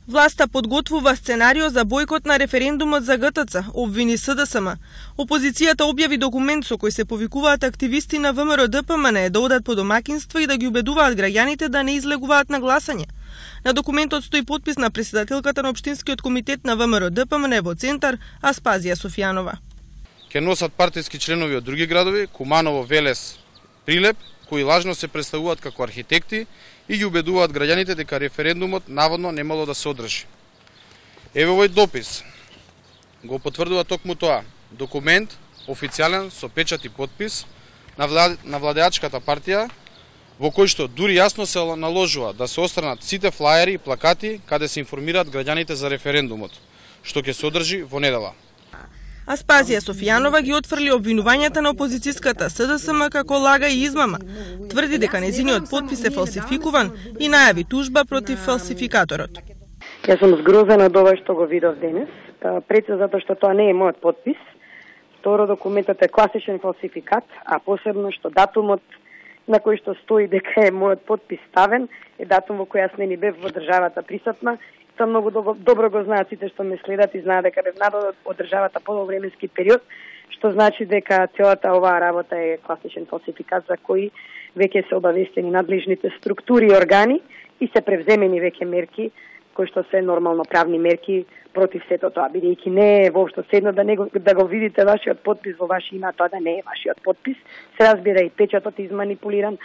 Власта подготвува сценарио за бојкот на референдумот за ГТЦ, обвини СДСМ. Опозицијата објави документ со кој се повикуваат активисти на ВМРО ДПМН да одат по домакинства и да ги убедуваат граѓаните да не излегуваат на гласање. На документот стои подпис на претседателката на Општинскиот комитет на ВМРО ДПМН во Центар, Аспазија Софијанова. Ке носат партиски членови од други градови, Куманово, Велес, Прилеп, кои лажно се представуваат како архитекти и ги убедуваат граѓаните дека референдумот наводно немало да се одржи. Еве овој допис го потврдува токму тоа. Документ, официјален, со печат и подпис на владеачката партија, во кој што дури јасно се наложува да се отстранат сите флаери и плакати каде се информираат граѓаните за референдумот, што ќе се одржи во недела. Аспазија Софијанова ги отфрли обвинувањата на опозицијската СДСМ како лага и измама. Тврди дека нејзиниот подпис е фалсификуван и најави тужба против фалсификаторот. Јас сум згрозена од ова што го видов денес, пред се затоа што тоа не е мојот подпис. Второ, документот е класичен фалсификат, а посебно што датумот на кој што стои дека е мојот подпис ставен е датум во кој јас не ни бев во државата присутна. Тоа многу добро го знаат сите што ме следат и знаат дека бев надолу од државата подовременски период, што значи дека целата оваа работа е класичен фалсификат за кој веќе се обавестени надлежните структури и органи и се превземени веќе мерки кои што се нормално правни мерки против сето тоа, бидејќи не е воопшто седно да го видите вашиот подпис во ваше име, тоа да не е вашиот подпис. Се разбира и печатот изманипулиран,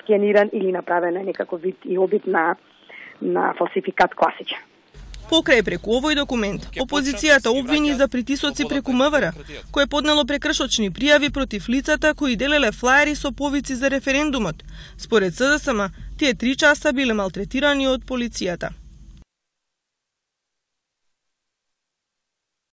скениран или направен е некаков вид и обид на фалсификат класичен. Покрај преку овој документ, опозицијата обвини за притисоци преку МВР, кој поднело прекршочни пријави против лицата кои делеле флаери со повици за референдумот. Според СДСМ, тие 3 часа биле малтретирани од полицијата.